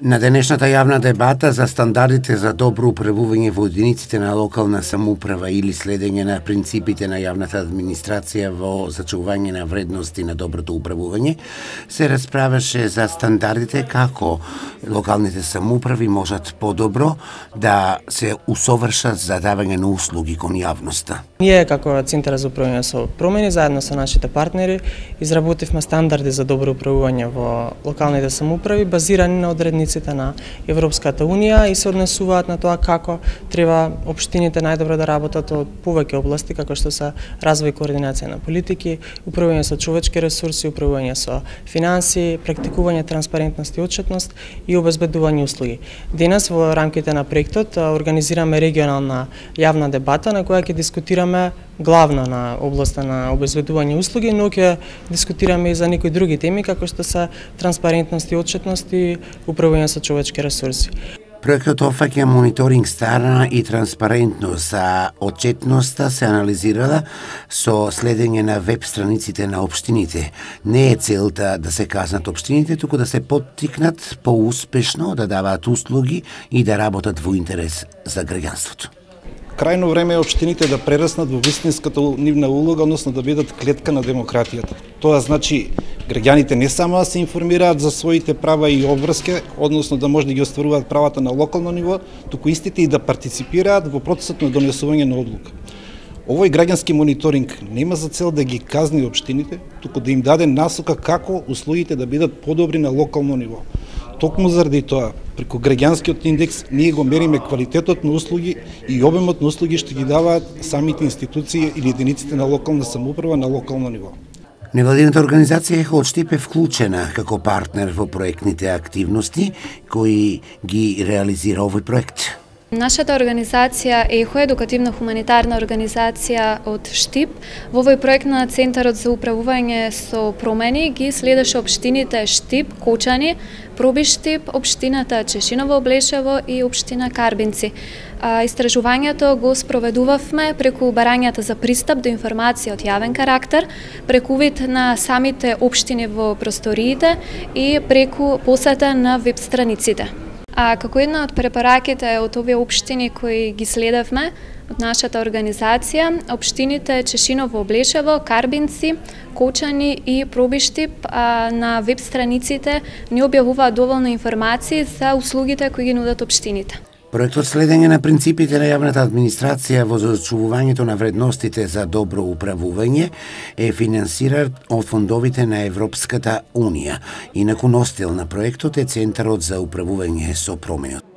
На денешната јавна дебата за стандардите за добро управување во единиците на локална самоуправа или следење на принципите на јавната администрација во зачување на вредности на доброто управување, се расправаше за стандардите како локалните самоуправи можат подобро да се усовршат за давање на услуги кон јавноста. Ние како Центар за управување со промени заедно со нашите партнери изработивме стандарди за добро управување во локалните самоуправи базирани на одредниците на Европската Унија и се однесуваат на тоа како треба општините најдобро да работат од повеќе области како што се развој и координација на политики, управување со човечки ресурси, управување со финансии, практикување транспарентност и отчетност и обезбедување услуги. Денес во рамките на проектот организираме регионална јавна дебата на која ќе дискутираме главно на областа на обезбедување услуги, но ќе дискутираме и за некои други теми како што се транспарентност и отчетност и управување со човечки ресурси. Проектот офаќа мониторинг страна и транспарентност, а отчетноста се анализирала со следење на веб страниците на општините. Не е целта да се казнат општините, туку да се поттикнат поуспешно да даваат услуги и да работат во интерес за граѓанството. Крајно време е општините да прераснат во вистинската нивна улога, односно да бидат клетка на демократијата. Тоа значи граѓаните не само да се информираат за своите права и обврски, односно да може да ги остваруваат правата на локално ниво, туку истите и да партиципираат во процесот на донесување на одлука. Овој граѓански мониторинг нема за цел да ги казни општините, туку да им даде насока како услугите да бидат подобри на локално ниво. Токму заради тоа, преку граѓанскиот индекс ние го мериме квалитетот на услуги и обемот на услуги што ги даваат самите институции или единиците на локална самоуправа на локално ниво. Невладината организација Ехо-од-Штип е вклучена како партнер во проектните активности кои ги реализира овој проект. Нашата организација ЕХО е едукативно-хуманитарна организација од Штип. Во овој проект на Центарот за управување со промени ги следеше општините Штип, Кочани, Проби Штип, општината Чешиново Облешево и општина Карбинци. Истражувањето го спроведувавме преку барањата за пристап до информација од јавен карактер, преку вид на самите општини во просториите и преку посета на веб страниците. Како една од препораките од овие општини кои ги следевме од нашата организација, општините Чешиново Облешево, Карбинци, Кочани и Проби Штип на веб страниците ни објавуваат доволно информации за услугите кои ги нудат општините. Проектот следење на принципите на јавната администрација во зачувувањето на вредностите за добро управување е финансиран од фондовите на Европската Унија. Инаку носител на проектот е Центарот за управување со промени.